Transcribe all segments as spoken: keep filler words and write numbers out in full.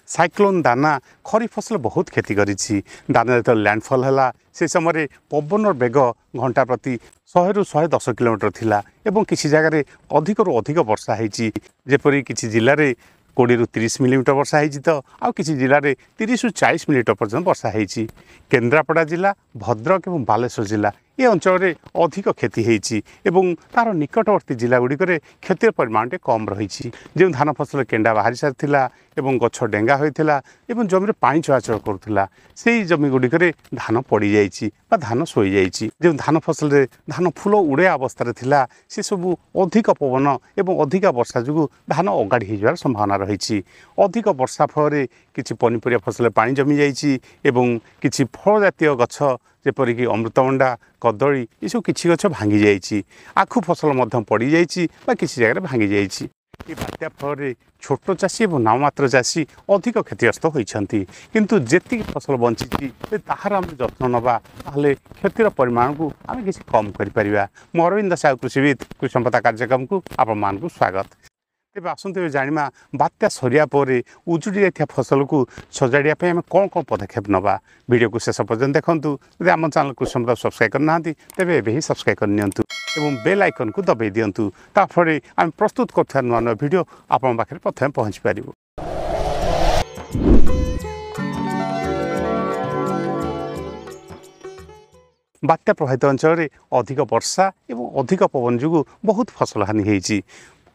Cyclone ଦାନା ଖରିଫ ଫସଲ ବହୁତ କ୍ଷତି କରିଛି। ଦାନା ଯେତେବେଳେ ଲ୍ୟାଣ୍ଡଫଲ୍ ହେଲା, ସେ ସମୟରେ ପବନର ବେଗ ଘଣ୍ଟା ପ୍ରତି ଶହେରୁ ଶହେ ଦଶ କିଲୋମିଟର ଥିଲା ଏବଂ କିଛି ଜାଗାରେ ଅଧିକରୁ ଅଧିକ ବର୍ଷା ହେଇଛି। ଯେପରି କିଛି ଜିଲ୍ଲାରେ କୋଡ଼ିଏରୁ ତିରିଶ ମିଲିମିଟର ବର୍ଷା ହେଇଛି ତ ଆଉ କିଛି ଜିଲ୍ଲାରେ ତିରିଶରୁ ଚାଳିଶ ମିଲିମିଟର ପର୍ଯ୍ୟନ୍ତ ବର୍ଷା ହେଇଛି। କେନ୍ଦ୍ରାପଡ଼ା ଜିଲ୍ଲା, ଭଦ୍ରକ ଏବଂ ବାଲେଶ୍ୱର ଜିଲ୍ଲା ଏ ଅଞ୍ଚଳରେ ଅଧିକ କ୍ଷତି ହେଇଛି ଏବଂ ତା'ର ନିକଟବର୍ତ୍ତୀ ଜିଲ୍ଲା ଗୁଡ଼ିକରେ କ୍ଷତିର ପରିମାଣ ଟିକେ କମ୍ ରହିଛି। ଯେଉଁ ଧାନ ଫସଲ କେଣ୍ଡା ବାହାରି ସାରିଥିଲା ଏବଂ ଗଛ ଡେଙ୍ଗା ହୋଇଥିଲା ଏବଂ ଜମିରେ ପାଣି ଚଳାଚଳ କରୁଥିଲା, ସେଇ ଜମି ଗୁଡ଼ିକରେ ଧାନ ପଡ଼ିଯାଇଛି ବା ଧାନ ଶୋଇଯାଇଛି। ଯେଉଁ ଧାନ ଫସଲରେ ଧାନ ଫୁଲ ଉଡ଼େଇବା ଅବସ୍ଥାରେ ଥିଲା, ସେସବୁ ଅଧିକ ପବନ ଏବଂ ଅଧିକା ବର୍ଷା ଯୋଗୁଁ ଧାନ ଅଗାଡ଼ି ହେଇଯିବାର ସମ୍ଭାବନା ରହିଛି। ଅଧିକ ବର୍ଷା ଫଳରେ କିଛି ପନିପରିବା ଫସଲରେ ପାଣି ଜମିଯାଇଛି ଏବଂ କିଛି ଫଳ ଜାତୀୟ ଗଛ ଯେପରିକି ଅମୃତଭଣ୍ଡା, କଦଳୀ ଏସବୁ କିଛି ଗଛ ଭାଙ୍ଗି ଯାଇଛି। ଆଖୁ ଫସଲ ମଧ୍ୟ ପଡ଼ିଯାଇଛି ବା କିଛି ଜାଗାରେ ଭାଙ୍ଗି ଯାଇଛି। ଏ ବାତ୍ୟା ଫଳରେ ଛୋଟ ଚାଷୀ ଏବଂ ନାମମାତ୍ର ଚାଷୀ ଅଧିକ କ୍ଷତିଗ୍ରସ୍ତ ହୋଇଛନ୍ତି। କିନ୍ତୁ ଯେତିକି ଫସଲ ବଞ୍ଚିଛି, ଯଦି ତାହାର ଆମେ ଯତ୍ନ ନେବା, ତାହେଲେ କ୍ଷତିର ପରିମାଣକୁ ଆମେ କିଛି କମ୍ କରିପାରିବା। ମୁଁ ଅରବିନ୍ଦ ସାହୁ, କୃଷିବିତ୍, କୃଷି ସମ୍ପଦା କାର୍ଯ୍ୟକ୍ରମକୁ ଆପଣମାନଙ୍କୁ ସ୍ୱାଗତ। ତେବେ ଆସନ୍ତୁ ଏବେ ଜାଣିବା, ବାତ୍ୟା ସରିବା ପରେ ଉଜୁଡ଼ି ଯାଇଥିବା ଫସଲକୁ ସଜାଡ଼ିବା ପାଇଁ ଆମେ କ'ଣ କ'ଣ ପଦକ୍ଷେପ ନେବା। ଭିଡ଼ିଓକୁ ଶେଷ ପର୍ଯ୍ୟନ୍ତ ଦେଖନ୍ତୁ। ଯଦି ଆମ ଚ୍ୟାନେଲ୍ କୃଷି ସମ୍ପଦା ସବସ୍କ୍ରାଇବ୍ କରିନାହାନ୍ତି, ତେବେ ଏବେ ହିଁ ସବସ୍କ୍ରାଇବ୍ କରିନିଅନ୍ତୁ ଏବଂ ବେଲ୍ ଆଇକନ୍କୁ ଦବାଇ ଦିଅନ୍ତୁ। ତା ଫଳରେ ଆମେ ପ୍ରସ୍ତୁତ କରୁଥିବା ନୂଆ ନୂଆ ଭିଡ଼ିଓ ଆପଣଙ୍କ ପାଖରେ ପ୍ରଥମେ ପହଞ୍ଚି ପାରିବ। ବାତ୍ୟା ପ୍ରଭାବିତ ଅଞ୍ଚଳରେ ଅଧିକ ବର୍ଷା ଏବଂ ଅଧିକ ପବନ ଯୋଗୁଁ ବହୁତ ଫସଲ ହାନି ହେଇଛି।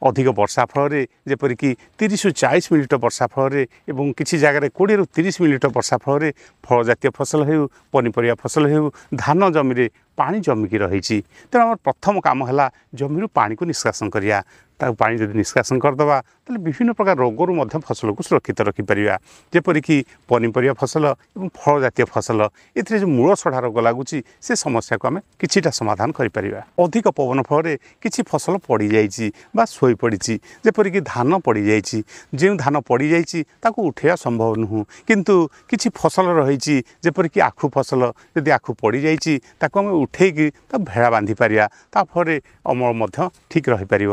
ଅଧିକ ବର୍ଷା ଫଳରେ, ଯେପରିକି ତିରିଶରୁ ଚାଳିଶ ମିଲିମିଟର ବର୍ଷା ଫଳରେ ଏବଂ କିଛି ଜାଗାରେ କୋଡ଼ିଏରୁ ତିରିଶ ମିଲିମିଟର ବର୍ଷା ଫଳରେ ଫଳ ଜାତୀୟ ଫସଲ ହେଉ, ପନିପରିବା ଫସଲ ହେଉ, ଧାନ ଜମିରେ ପାଣି ଜମିକି ରହିଛି। ତେଣୁ ଆମର ପ୍ରଥମ କାମ ହେଲା ଜମିରୁ ପାଣିକୁ ନିଷ୍କାସନ କରିବା। ତାକୁ ପାଣି ଯଦି ନିଷ୍କାସନ କରିଦେବା, ତାହେଲେ ବିଭିନ୍ନ ପ୍ରକାର ରୋଗରୁ ମଧ୍ୟ ଫସଲକୁ ସୁରକ୍ଷିତ ରଖିପାରିବା। ଯେପରିକି ପନିପରିବା ଫସଲ ଏବଂ ଫଳ ଜାତୀୟ ଫସଲ, ଏଥିରେ ଯେଉଁ ମୂଳ ସଢ଼ା ରୋଗ ଲାଗୁଛି, ସେ ସମସ୍ୟାକୁ ଆମେ କିଛିଟା ସମାଧାନ କରିପାରିବା। ଅଧିକ ପବନ ଫଳରେ କିଛି ଫସଲ ପଡ଼ିଯାଇଛି ବା ଶୋଇପଡ଼ିଛି, ଯେପରିକି ଧାନ ପଡ଼ିଯାଇଛି। ଯେଉଁ ଧାନ ପଡ଼ିଯାଇଛି ତାକୁ ଉଠାଇବା ସମ୍ଭବ ନୁହଁ, କିନ୍ତୁ କିଛି ଫସଲ ରହିଛି, ଯେପରିକି ଆଖୁ ଫସଲ, ଯଦି ଆଖୁ ପଡ଼ିଯାଇଛି ତାକୁ ଆମେ ଉଠେଇକି ତାକୁ ଭେଳା ବାନ୍ଧି ପାରିବା। ତା ଫଳରେ ଅମଳ ମଧ୍ୟ ଠିକ୍ ରହିପାରିବ।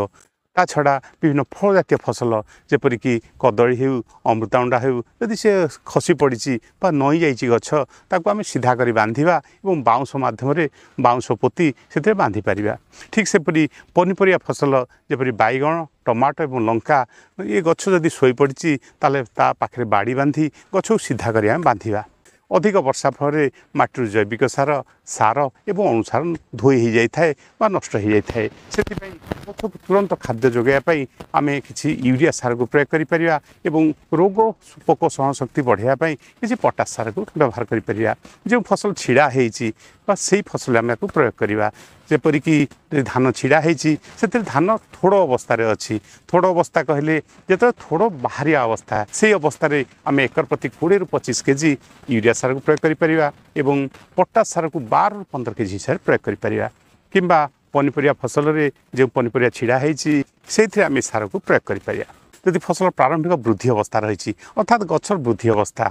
ତା ଛଡ଼ା ବିଭିନ୍ନ ଫଳ ଜାତୀୟ ଫସଲ, ଯେପରିକି କଦଳୀ ହେଉ, ଅମୃତଭଣ୍ଡା ହେଉ, ଯଦି ସେ ଖସି ପଡ଼ିଛି ବା ନଇଁ ଯାଇଛି ଗଛ, ତାକୁ ଆମେ ସିଧା କରି ବାନ୍ଧିବା ଏବଂ ବାଉଁଶ ମାଧ୍ୟମରେ ବାଉଁଶ ପୋତି ସେଥିରେ ବାନ୍ଧିପାରିବା। ଠିକ୍ ସେପରି ପନିପରିବା ଫସଲ ଯେପରି ବାଇଗଣ, ଟମାଟୋ ଏବଂ ଲଙ୍କା, ଏ ଗଛ ଯଦି ଶୋଇପଡ଼ିଛି ତାହେଲେ ତା ପାଖରେ ବାଡ଼ି ବାନ୍ଧି ଗଛକୁ ସିଧା କରି ଆମେ ବାନ୍ଧିବା। ଅଧିକ ବର୍ଷା ଫଳରେ ମାଟିରୁ ଜୈବିକ ସାର, ସାର ଏବଂ ଅଣୁସାର ଧୋଇ ହୋଇଯାଇଥାଏ ବା ନଷ୍ଟ ହୋଇଯାଇଥାଏ। ସେଥିପାଇଁ ଗଛକୁ ତୁରନ୍ତ ଖାଦ୍ୟ ଯୋଗାଇବା ପାଇଁ ଆମେ କିଛି ୟୁରିଆ ସାରକୁ ପ୍ରୟୋଗ କରିପାରିବା ଏବଂ ରୋଗ ପୋକ ସହନଶକ୍ତି ବଢ଼ାଇବା ପାଇଁ କିଛି ପଟାସ ସାରକୁ ବ୍ୟବହାର କରିପାରିବା। ଯେଉଁ ଫସଲ ଛିଡ଼ା ହେଇଛି ବା ସେଇ ଫସଲ ଆମେ ଏହାକୁ ପ୍ରୟୋଗ କରିବା। ଯେପରିକି ଧାନ ଛିଡ଼ା ହେଇଛି, ସେଥିରେ ଧାନ ଥୋଡ଼ ଅବସ୍ଥାରେ ଅଛି। ଥୋଡ଼ ଅବସ୍ଥା କହିଲେ ଯେତେବେଳେ ଥୋଡ଼ ବାହାରିବା ଅବସ୍ଥା, ସେଇ ଅବସ୍ଥାରେ ଆମେ ଏକର ପ୍ରତି କୋଡ଼ିଏରୁ ପଚିଶ କେଜି ୟୁରିଆ ସାରକୁ ପ୍ରୟୋଗ କରିପାରିବା ଏବଂ ପଟାସ ସାରକୁ ବାରରୁ ପନ୍ଦର କେଜି ହିସାବରେ ପ୍ରୟୋଗ କରିପାରିବା। କିମ୍ବା ପନିପରିବା ଫସଲରେ ଯେଉଁ ପନିପରିବା ଛିଡ଼ା ହେଇଛି, ସେଇଥିରେ ଆମେ ସାରକୁ ପ୍ରୟୋଗ କରିପାରିବା। ଯଦି ଫସଲ ପ୍ରାରମ୍ଭିକ ବୃଦ୍ଧି ଅବସ୍ଥା ରହିଛି, ଅର୍ଥାତ୍ ଗଛର ବୃଦ୍ଧି ଅବସ୍ଥା,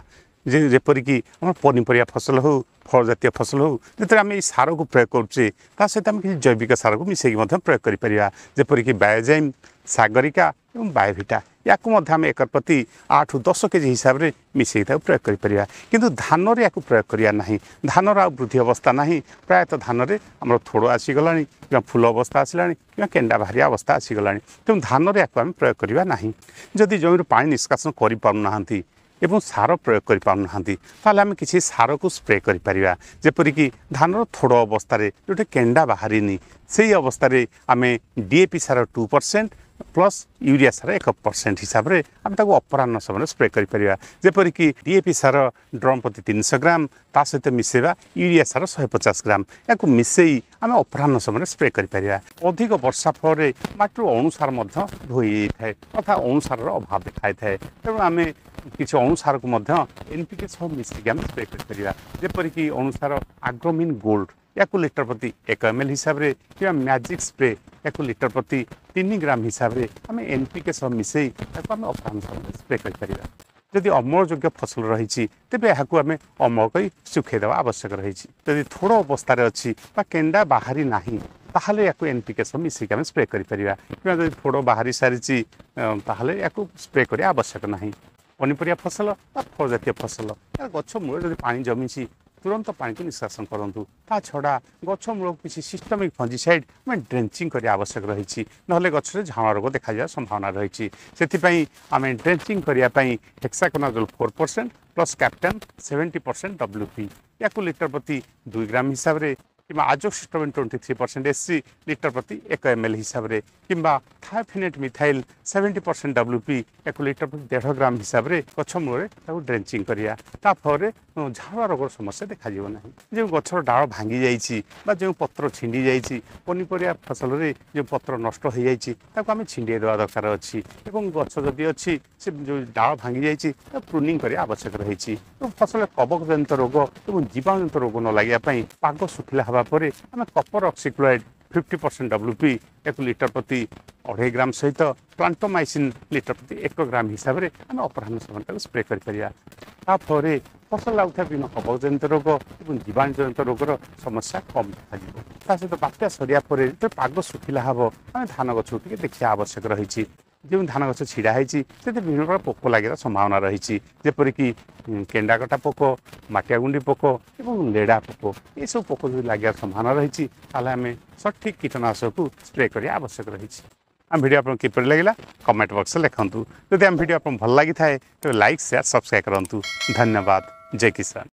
ଯେ ଯେପରିକି ଆମର ପନିପରିବା ଫସଲ ହେଉ, ଫଳ ଜାତୀୟ ଫସଲ ହେଉ, ଯେତେବେଳେ ଆମେ ଏଇ ସାରକୁ ପ୍ରୟୋଗ କରୁଛେ, ତା ସହିତ ଆମେ କିଛି ଜୈବିକ ସାରକୁ ମିଶାଇକି ମଧ୍ୟ ପ୍ରୟୋଗ କରିପାରିବା। ଯେପରିକି ବାୟୋଜାଇମ୍, ସାଗରିକା ଏବଂ ବାୟୋଭିଟା, ୟାକୁ ମଧ୍ୟ ଆମେ ଏକର ପ୍ରତି ଆଠରୁ ଦଶ କେଜି ହିସାବରେ ମିଶାଇକି ତାକୁ ପ୍ରୟୋଗ କରିପାରିବା। କିନ୍ତୁ ଧାନରେ ୟାକୁ ପ୍ରୟୋଗ କରିବା ନାହିଁ। ଧାନର ଆଉ ବୃଦ୍ଧି ଅବସ୍ଥା ନାହିଁ। ପ୍ରାୟତଃ ଧାନରେ ଆମର ଥୋଡ଼ ଆସିଗଲାଣି କିମ୍ବା ଫୁଲ ଅବସ୍ଥା ଆସିଲାଣି କିମ୍ବା କେଣ୍ଡା ବାହାରିବା ଅବସ୍ଥା ଆସିଗଲାଣି। ତେଣୁ ଧାନରେ ୟାକୁ ଆମେ ପ୍ରୟୋଗ କରିବା ନାହିଁ। ଯଦି ଜମିରୁ ପାଣି ନିଷ୍କାସନ କରିପାରୁନାହାନ୍ତି ଏବଂ ସାର ପ୍ରୟୋଗ କରିପାରୁନାହାନ୍ତି, ତାହେଲେ ଆମେ କିଛି ସାରକୁ ସ୍ପ୍ରେ କରିପାରିବା। ଯେପରିକି ଧାନର ଥୋଡ଼ ଅବସ୍ଥାରେ, ଯେଉଁଠି କେଣ୍ଡା ବାହାରିନି, ସେଇ ଅବସ୍ଥାରେ ଆମେ ଡି ଏ ପି ସାର ଟୁ ପରସେଣ୍ଟ ପ୍ଲସ୍ ୟୁରିଆ ସାର ଏକ ପରସେଣ୍ଟ ହିସାବରେ ଆମେ ତାକୁ ଅପରାହ୍ନ ସମୟରେ ସ୍ପ୍ରେ କରିପାରିବା। ଯେପରିକି D A P sir drum ପ୍ରତି ତିନିଶହ ଗ୍ରାମ, ତା ସହିତ ମିଶାଇବା ୟୁରିଆ ସାର ଶହେ ପଚାଶ ଗ୍ରାମ, ଏହାକୁ ମିଶାଇ ଆମେ ଅପରାହ୍ନ ସମୟରେ ସ୍ପ୍ରେ କରିପାରିବା। ଅଧିକ ବର୍ଷା ଫଳରେ ମାଟିରୁ ଅଣୁସାର ମଧ୍ୟ ଧୋଇ ଯାଇଥାଏ, ତଥା ଅଣୁସାରର ଅଭାବ ଦେଖାଇଥାଏ। ତେଣୁ ଆମେ କିଛି ଅଣୁସାରକୁ ମଧ୍ୟ ଏନ୍ ପି କେ ସହ ମିଶିକି ଆମେ ସ୍ପ୍ରେ କରିପାରିବା। ଯେପରିକି ଅଣୁସାର ଆଗ୍ରୋମିନ୍ ଗୋଲ୍ଡ, ୟାକୁ ଲିଟର ପ୍ରତି ଏକ ଏମ୍ ଏଲ୍ ହିସାବରେ, କିମ୍ବା ମ୍ୟାଜିକ୍ ସ୍ପ୍ରେ, ୟାକୁ ଲିଟର ପ୍ରତି ତିନି ଗ୍ରାମ ହିସାବରେ ଆମେ ଏନ୍ ପି କେ ସହ ମିଶାଇ ତାକୁ ଆମେ ଅପରାହ୍ନ ସମୟରେ ସ୍ପ୍ରେ କରିପାରିବା। ଯଦି ଅମଳଯୋଗ୍ୟ ଫସଲ ରହିଛି, ତେବେ ଏହାକୁ ଆମେ ଅମଳ କରି ଶୁଖାଇ ଦେବା ଆବଶ୍ୟକ ରହିଛି। ଯଦି ଥୋଡ଼ ଅବସ୍ଥାରେ ଅଛି ବା କେଣ୍ଡା ବାହାରି ନାହିଁ, ତାହେଲେ ୟାକୁ ଏନ୍ ପି କେ ସହ ମିଶାଇକି ଆମେ ସ୍ପ୍ରେ କରିପାରିବା, କିମ୍ବା ଯଦି ଥୋଡ଼ ବାହାରି ସାରିଛି ତାହେଲେ ୟାକୁ ସ୍ପ୍ରେ କରିବା ଆବଶ୍ୟକ ନାହିଁ। ପନିପରିବା ଫସଲ ବା ଫଳ ଜାତୀୟ ଫସଲ ଏହାର ଗଛ ମୂଳରେ ଯଦି ପାଣି ଜମିଛି ତୁରନ୍ତ ପାଣିକୁ ନିଷ୍କାସନ କରନ୍ତୁ। ତା ଛଡ଼ା ଗଛ ମୂଳକୁ କିଛି ସିଷ୍ଟମିକ୍ ଫଞ୍ଜିସାଇଡ଼୍ ଆମେ ଡ୍ରେଞ୍ଚିଂ କରିବା ଆବଶ୍ୟକ ରହିଛି, ନହେଲେ ଗଛରେ ଝାଉଁଳା ରୋଗ ଦେଖାଯିବାର ସମ୍ଭାବନା ରହିଛି। ସେଥିପାଇଁ ଆମେ ଡ୍ରେଞ୍ଚିଂ କରିବା ପାଇଁ hexaconazole four percent plus captan seventy percent W P ୟାକୁ ଲିଟର ପ୍ରତି ଦୁଇ ଗ୍ରାମ ହିସାବରେ, କିମ୍ବା azoxystrobin twenty three percent S C litre ପ୍ରତି ଏକ ଏମ୍ ଏଲ୍ ହିସାବରେ, କିମ୍ବା thiophanate methyl seventy percent W P ୟାକୁ ଲିଟର ପ୍ରତି ଦେଢ଼ ଗ୍ରାମ ହିସାବରେ ଗଛ ମୂଳରେ ତାକୁ ଡ୍ରେଞ୍ଚିଂ କରିବା। ତା ଫଳରେ ଝାଉଁଳା ରୋଗର ସମସ୍ୟା ଦେଖାଯିବ ନାହିଁ। ଯେଉଁ ଗଛର ଡାଳ ଭାଙ୍ଗି ଯାଇଛି ବା ଯେଉଁ ପତ୍ର ଛିଣ୍ଡି ଯାଇଛି, ପନିପରିବା ଫସଲରେ ଯେଉଁ ପତ୍ର ନଷ୍ଟ ହୋଇଯାଇଛି ତାକୁ ଆମେ ଛିଣ୍ଡେଇ ଦେବା ଦରକାର ଅଛି। ଏବଂ ଗଛ ଯଦି ଅଛି ସେ ଯେଉଁ ଡାଳ ଭାଙ୍ଗି ଯାଇଛି ତାକୁ ପ୍ରୁନିଂ କରିବା ଆବଶ୍ୟକ ରହିଛି। ଏବଂ ଫସଲରେ କବକଜନିତ ରୋଗ ଏବଂ ଜୀବାଣୁଜନିତ ରୋଗ ନ ଲାଗିବା ପାଇଁ ପାଗ ଶୁଖିଲା ହେବା ପରେ ଆମେ copper oxychloride fifty percent W P ୟାକୁ ଲିଟର ପ୍ରତି ଅଢ଼େଇ ଗ୍ରାମ ସହିତ ପ୍ଲାଣ୍ଟୋମାଇସିନ୍ ଲିଟର ପ୍ରତି ଏକ ଗ୍ରାମ ହିସାବରେ ଆମେ ଅପରାହ୍ନ ସମୟରେ ତାକୁ ସ୍ପ୍ରେ କରିପାରିବା। ତା ଫଳରେ ଫସଲ ଲାଗୁଥିବା ବିଭିନ୍ନ କବକଜନିତ ରୋଗ ଏବଂ ଜୀବାଣୁଜନିତ ରୋଗର ସମସ୍ୟା କମ୍ ଦେଖାଯିବ। ତା ସହିତ ବାତ୍ୟା ସରିବା ପରେ ଯେତେବେଳେ ପାଗ ଶୁଖିଲା ହେବ ଆମେ ଧାନ ଗଛକୁ ଟିକେ ଦେଖିବା ଆବଶ୍ୟକ ରହିଛି। ଯେଉଁ ଧାନ ଗଛ ଛିଡ଼ା ହେଇଛି ସେଥିରେ ବିଭିନ୍ନ ପ୍ରକାର ପୋକ ଲାଗିବାର ସମ୍ଭାବନା ରହିଛି, ଯେପରିକି କେଣ୍ଡାକଟା ପୋକ, ମାଟିଆ ଗୁଣ୍ଡି ପୋକ ଏବଂ ଲେଡ଼ା ପୋକ। ଏସବୁ ପୋକ ଯଦି ଲାଗିବାର ସମ୍ଭାବନା ରହିଛି ତାହେଲେ ଆମେ ସଠିକ୍ କୀଟନାଶକକୁ ସ୍ପ୍ରେ କରିବା ଆବଶ୍ୟକ ରହିଛି। ଆମ ଭିଡ଼ିଓ ଆପଣଙ୍କୁ କିପରି ଲାଗିଲା କମେଣ୍ଟ ବକ୍ସରେ ଲେଖନ୍ତୁ। ଯଦି ଆମ ଭିଡ଼ିଓ ଆପଣଙ୍କୁ ଭଲ ଲାଗିଥାଏ ତେବେ ଲାଇକ୍, ସେୟାର, ସବସ୍କ୍ରାଇବ୍ କରନ୍ତୁ। ଧନ୍ୟବାଦ। ଜୟ କିଷାନ।